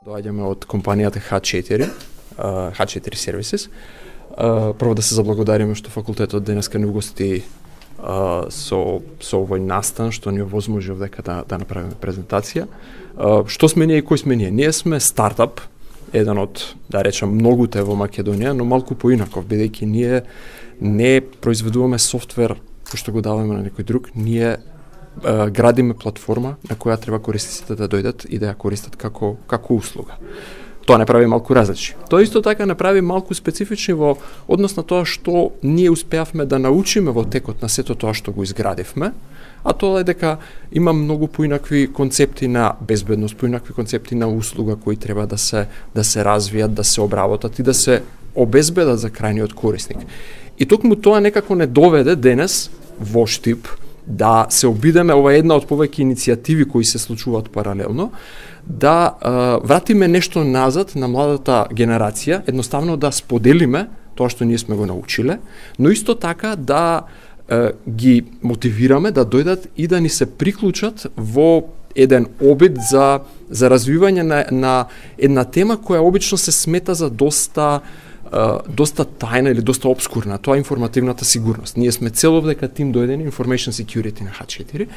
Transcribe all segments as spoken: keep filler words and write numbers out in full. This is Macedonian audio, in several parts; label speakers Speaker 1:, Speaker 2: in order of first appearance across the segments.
Speaker 1: Доаѓаме од компанијата Х четири, Х четири Services. Прво да се заблагодариме што факултетот денеска ни угости со со овој настан што ни овозможи овдека да да направиме презентација. Што сме ние и кој сме ние? Ние сме стартап, еден од, да речам, многуте во Македонија, но малку поинаков, бидејќи ние не произведуваме софтвер кој што го даваме на некој друг, ние а, градиме платформа на која треба корисниците да дојдат и да ја користат како како услуга. Тоа не прави малку различни. Тоа исто така не прави малку специфични во однос на тоа што ние успеавме да научиме во текот на сето тоа што го изградивме, а тоа е дека има многу поинакви концепти на безбедност, поинакви концепти на услуга кои треба да се да се развијат, да се обработат и да се обезбедат за крајниот корисник. И токму тоа некако не доведе денес во Штип да се обидеме, ова е една од повеќе иницијативи кои се случуваат паралелно, да а, вратиме нешто назад на младата генерација, едноставно да споделиме тоа што ние сме го научиле, но исто така да а, ги мотивираме да дојдат и да ни се приклучат во еден обид за за развивање на, на една тема која обично се смета за доста Uh, доста тајна или доста обскурна, тоа е информативната сигурност. Ние сме цело дека тим дојдени Information Security на Х четири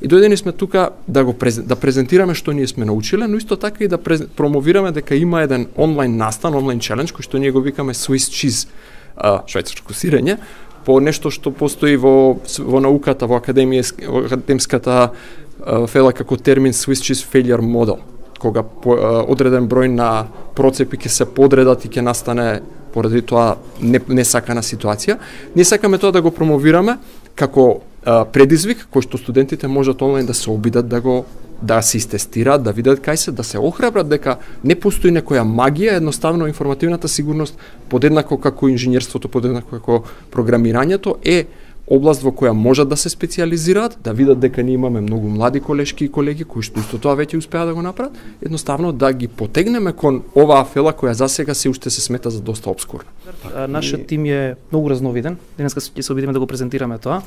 Speaker 1: и дојдени сме тука да го презен, да презентираме што ние сме научиле, но исто така и да през, промовираме дека има еден онлайн настан, онлайн челендж кој што ние го викаме Swiss Cheese, uh, швајцарско сирење, по нешто што постои во во науката, во академијска, во академската uh, фела како термин Swiss Cheese Failure Model, кога по, uh, одреден број на процепи ќе се подредат и ќе настане поради тоа не, не сакана ситуација. Ние сакаме тоа да го промовираме како а, предизвик кој што студентите можат онлайн да се обидат да го да се истестираат, да видат кај се, да се охрабрат дека не постои некоја магија, едноставно информативната сигурност подеднако како инженерството, подеднако како програмирањето е област во која можат да се специјализираат, да видат дека ние имаме многу млади колешки и колеги кои што исто тоа веќе успеа да го направат, едноставно да ги потегнеме кон оваа фела која засега се уште се смета за доста обскурна.
Speaker 2: Нашиот тим е многу разновиден. Денеска ќе се обидиме да го презентираме тоа,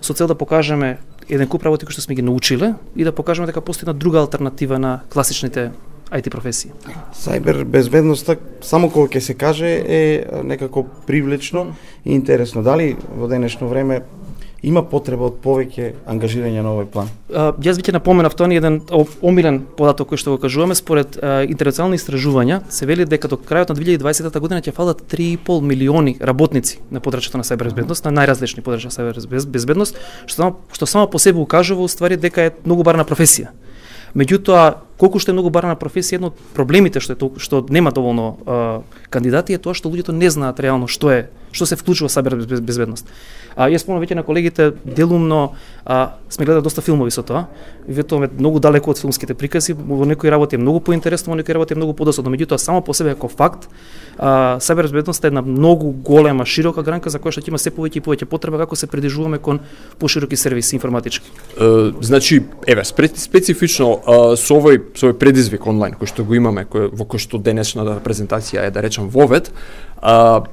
Speaker 2: со цел да покажеме еден куп работи кои што сме ги научиле и да покажеме дека постои една друга алтернатива на класичните ај ти професии.
Speaker 3: Сајбер безбедноста, само кога ќе се каже, е некако привлечно и интересно. Дали во денешно време има потреба од повеќе ангажирање на овој план?
Speaker 2: А, јас би ќе напоменав тоа ни еден омилен податок кој што го кажуваме, според а, интернационални истражувања се вели дека до крајот на две илјади и дваесета година ќе фалат три и пол милиони работници на подрачјето на сајбер безбедност, на најразлични подрачја на сајбер безбедност, што само што само по себе укажува уствари дека е многу барна професија. Меѓутоа, колку што е многу барна професија, едно од проблемите што е толку, што нема доволно а, кандидати е тоа што луѓето не знаат реално што е, што се вклучува сајбер безбедност. А јас спомнам веќе на колегите, делумно а, сме гледали доста филмови со тоа. Ветуваме многу далеко од филмските прикази, во некои работи е многу поинтересно, во некои работи е многу подосадно. Меѓутоа, само по себе како факт, а, сајбер безбедноста е една многу голема, широка гранка за која што ќе има се повеќе и повеќе потреба како се придвижуваме кон пошироки сервиси информатички.
Speaker 1: Uh, значи, еве, специфично uh, со овој со овој предизвик онлайн кој што го имаме, кој, во кој што денешната презентација е, да речам, вовед, uh,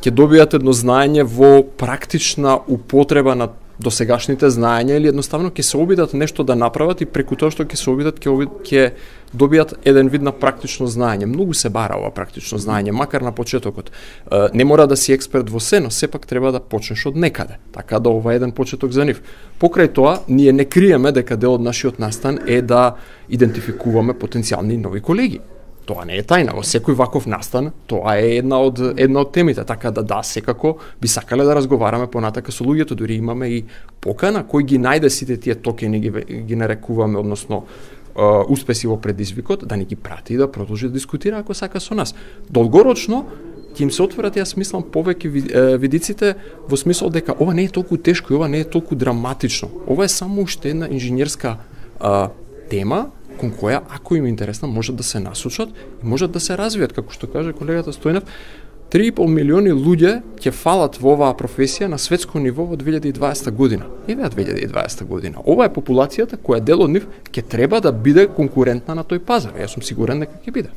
Speaker 1: ќе добијат едно знаење во практична употреба на досегашните знаења или едноставно ќе се обидат нешто да направат и преку тоа што ќе се обидат ќе обид, ќе добијат еден вид на практично знаење. Многу се бара ова практично знаење, макар на почетокот. Е, не мора да си експерт во се, но сепак треба да почнеш од некаде. Така да ова е еден почеток за нив. Покрај тоа, ние не криеме дека дел од нашиот настан е да идентификуваме потенцијални нови колеги. Тоа не е тајна, во секој ваков настан, тоа е една од една од темите, така да да, секако би сакале да разговараме понатака со луѓето, дури имаме и покана кој ги најде сите тие токени ги, ги нарекуваме, односно uh, успеси во предизвикот, да ни ги прати и да продолжи да дискутира ако сака со нас. Долгорочно ќе им се отворат, јас мислам, повеќе видиците во смисол дека ова не е толку тешко и ова не е толку драматично. Ова е само уште една инженерска uh, тема кон која, ако им е интересна, можат да се насочат и можат да се развијат, како што каже колегата Стојнев. три и пол милиони луѓе ќе фалат во оваа професија на светско ниво во две илјади и дваесета година. Еве две илјади и дваесета година. Ова е популацијата која дел од нив ќе треба да биде конкурентна на тој пазар. Јас сум сигурен дека ќе биде.